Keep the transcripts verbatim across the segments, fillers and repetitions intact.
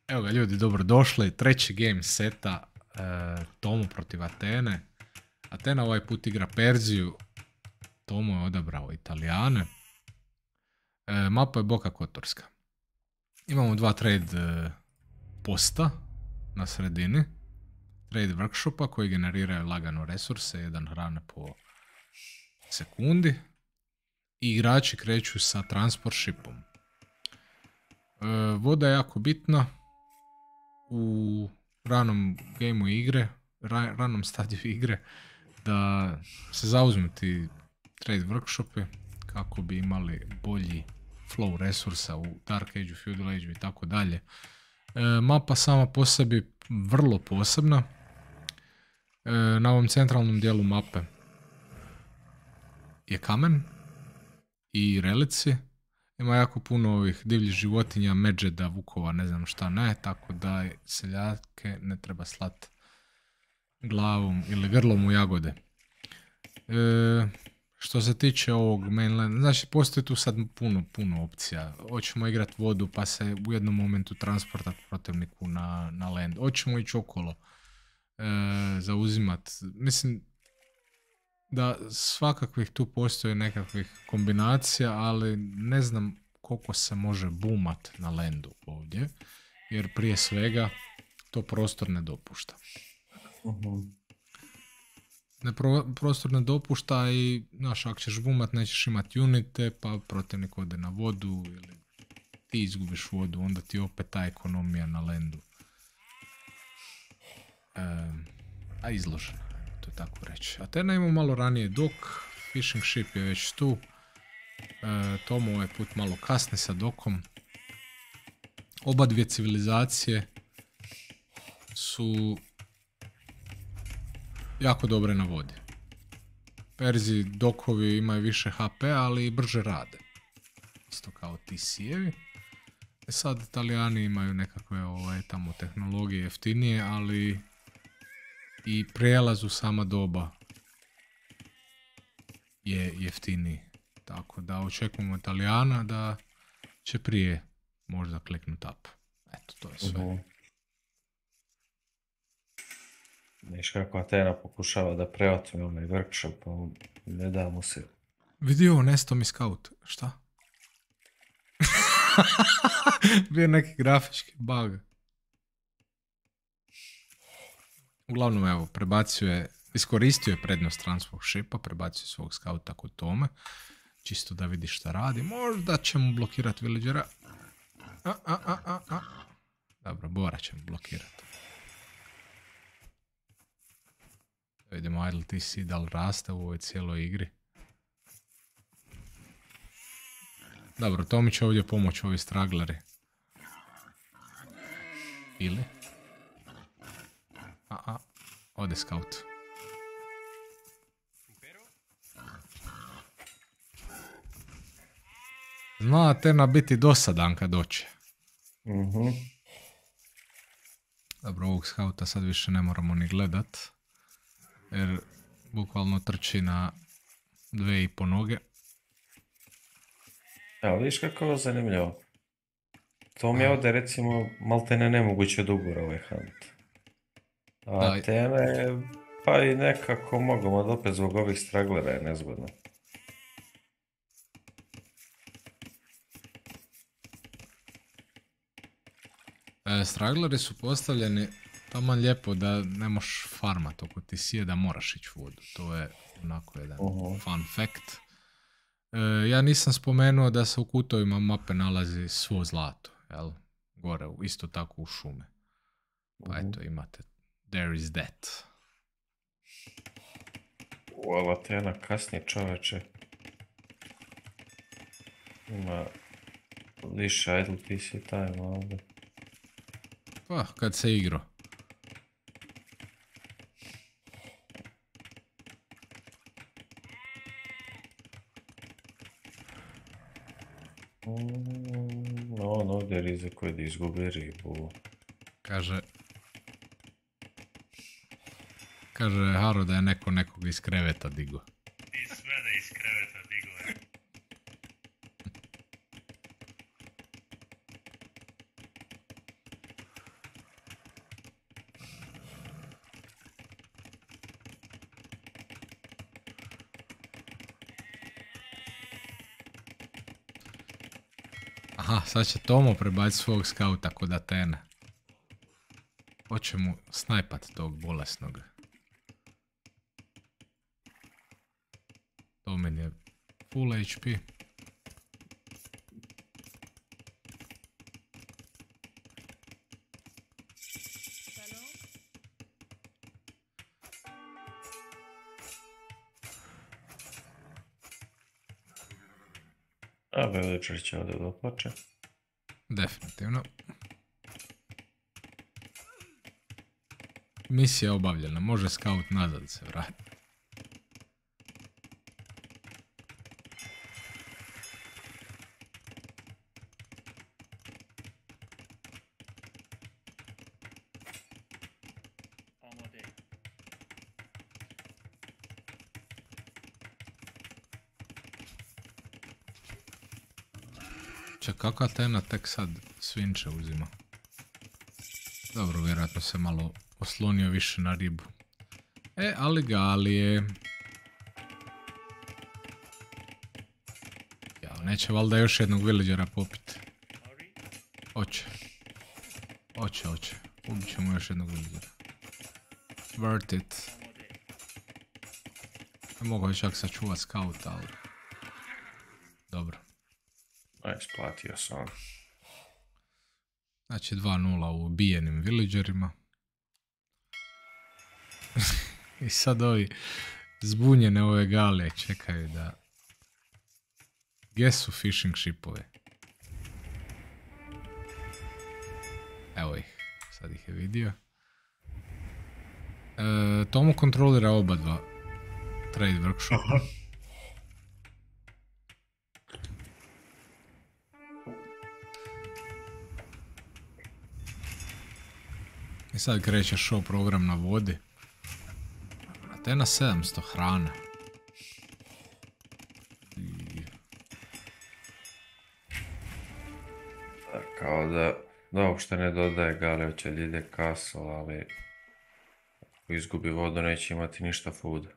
Evo ga ljudi, dobrodošli. Treći game seta e, Tomu protiv Atene. Atena ovaj put igra Perziju. Tomu je odabrao Italijane. E, mapa je Boka Kotorska. Imamo dva trade e, posta na sredini. Trade workshopa koji generiraju lagano resurse, jedan hrane po sekundi. I igrači kreću sa transport shipom. E, voda je jako bitna u ranom gameu igre, ra, ranom stadiju igre, da se zauzmu ti trade workshopi kako bi imali bolji flow resursa u Dark Age, Feudal Age i tako dalje. Mapa sama po sebi vrlo posebna. E, na ovom centralnom dijelu mape je kamen i relici. Ima jako puno ovih divljih životinja, medžeda, vukova, ne znam šta ne, tako da seljake ne treba slat glavom ili grlom u jagode. E, što se tiče ovog mainland, znači postoji tu sad puno, puno opcija. Hoćemo igrati vodu pa se u jednom momentu transportati protivniku na, na land. Hoćemo ići okolo, e, zauzimat. Mislim da svakakvih tu postoji nekakvih kombinacija, ali ne znam koliko se može boomat na landu ovdje, jer prije svega to prostor ne dopušta. Uh-huh. Ne pro, prostor ne dopušta i, znaš, ako ćeš boomat nećeš imati unite, pa protivnik ode na vodu ili ti izgubiš vodu, onda ti opet ta ekonomija na landu e, a izložena. To je tako reći. Atena ima malo ranije dok, fishing ship je već tu. E, Tomu ovaj put malo kasni sa dokom. Oba dvije civilizacije su jako dobre na vodi. Perzi dokovi imaju više H P, ali i brže rade. Isto kao ti sijevi. E sad Italijani imaju nekakve ovaj, tamo tehnologije jeftinije, ali i prijelaz u sama doba je jeftiniji. Tako da očekujemo Italijana da će prije možda kliknut up. Eto, to je sve. Uh-huh. Viš kako Atena pokušava da preotme onaj workshop, ne da mu se. Vidio, nesto mi scout. Šta? Bio neki grafički bug. Uglavnom, evo, prebacio je, iskoristio je prednost transport shipa, prebacio svog skauta kod Tome, čisto da vidi šta radi. Možda će mu blokirati villagera. A, a, a, a, a. Dobro, Bora će mu blokirati. Vidimo idle T C da li raste u ovoj cijeloj igri. Dobro, Tomi će ovdje pomoći ovi stragleri. Ili? A, a, ode scout. Zna Atena biti dosadan kad doće. Uh-huh. Dobro, ovog skauta sad više ne moramo ni gledat. Jer bukvalno trči na dve i po noge. Evo, vidiš kako je ovo zanimljivo. To mi je ovdje recimo maltene nemoguće od ugora ovaj hunt. A Atena je, pa i nekako mogamo da opet zbog ovih straglera je nezgodno. E, stragleri su postavljeni taman lijepo da ne možeš farmat oko ti sije da moraš ići vodu. To je onako jedan uh-huh. fun fact. E, ja nisam spomenuo da se u kutovima mape nalazi svo zlato, jel? Gore, isto tako u šume. Pa uh-huh. eto, imate there is that. U Atena kasnije čoveče. Ima više idle P C time ovdje. Pa, kad se igro. Mm, on ovdje rizikuje da izgubi ribu. Kaže... Kaže Haro da je neko nekog iz kreveta digo. I sve da iz kreveta digo je. Aha, sad će Tomo prebaciti svog skauta kod Atene. Hoće mu snajpat tog bolesnog. Tomin je full H P. A Village će ovdje doplače. Definitivno. Misija je obavljena, može scout nazad se vratiti. Ček, kako Atena tek sad svinče uzima? Dobro, vjerojatno se malo oslonio više na ribu. E, ali Galije. Ja, neće valjda još jednog villagera popiti. Hoće. Hoće, hoće. Ubit ćemo još jednog villagera. Worth it. Ne mogu je čak sačuvat scout, ali... Dobro. A, isplatio sam. Znači dva nula u ubijenim villagerima. I sad ovi zbunjene ove Galije čekaju da... Gdje su fishing shipove? Evo ih, sad ih je vidio. E, Tomo kontrolira oba dva trade workshopa. I sad kreće show program na vodi. Atena sedamsto hrane. I... Kao da, da uopšte ne dodaje Galio će da ide castle, ali ako izgubi vodu neće imati ništa fooda.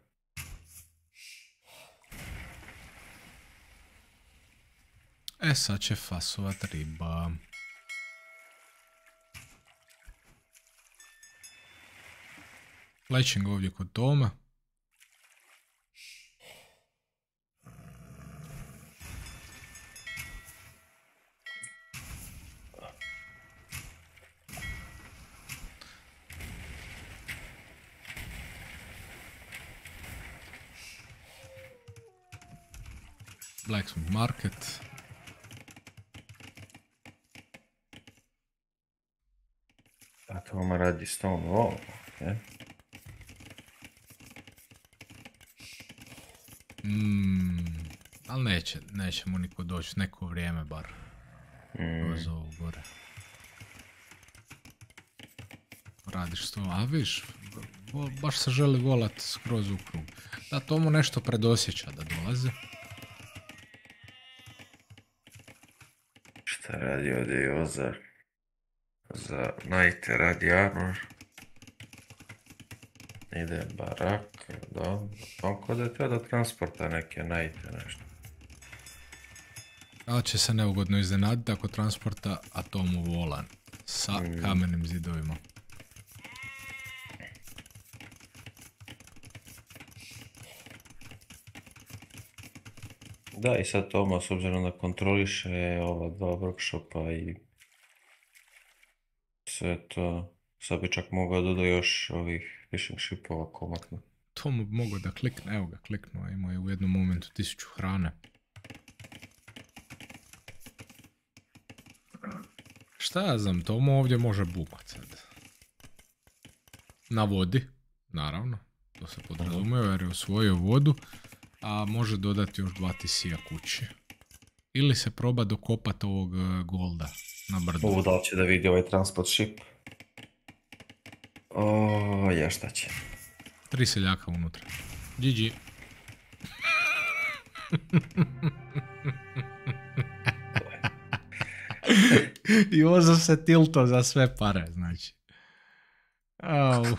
E sad će fasovat riba. Lečing ovdje kod Toma. Blacksmith Market. A Toma radi stone wall, ok? Mm, ali neće, neće mu niko doći neko vrijeme bar. Mm. Kroz ovo gore. Radiš to, a viš, baš se želi volat skroz u krug. Da, to mu nešto predosjeća da dolazi. Šta radi ovdje i Ozar? Za Night radi armor. Ide barak, dobro. On kod je teo da transporta neke Nighte nešto. Ali će se neugodno iznenaditi ako transporta atomu volan sa mm. kamenim zidovima. Da, i sad Toma, s obzirom da kontroliše ova dva workshopa i sve to, sad bi čak mogao doda još ovih fishing shipova komatno. Tomu bi mogao da klikne, evo ga kliknuo, imao je u jednom momentu tisuću hrane. Šta ja znam, Tomu ovdje može bumat sad. Na vodi, naravno, to se podrazumijeva jer je osvojio vodu, a može dodati još dva T C-a kući. Ili se proba dokopati ovog golda na brdu. Ovo da li će da vidi ovaj transport ship? O, ja šta će. Tri seljaka unutra. G G. I Ozo se tilto za sve pare, znači. Au.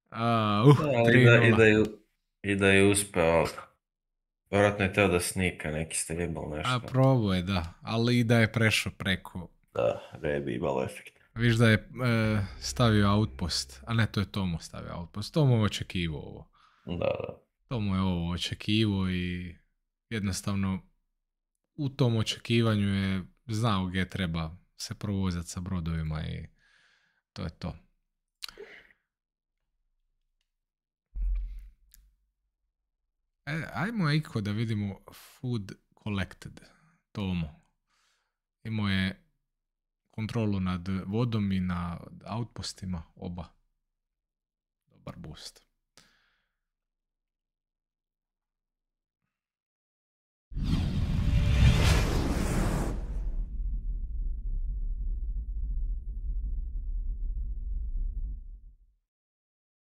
Au, I, da, i, da je, I da je uspeo Vjerojatno je teo da snika, neki ste jebal A nešto. probao je, da, ali i da je prešao preko. Da, ne bi imalo efekt. Viš da je e, stavio outpost, a ne, to je Tomo stavio outpost. Tomo je očekivao ovo. Da, da. Tomo je ovo očekivao i jednostavno u tom očekivanju je znao gdje treba se provozati sa brodovima i to je to. E, ajmo Iko da vidimo Food Collected. Tomo. Imao je kontrolu nad vodom i nad outpostima, oba. Dobar boost.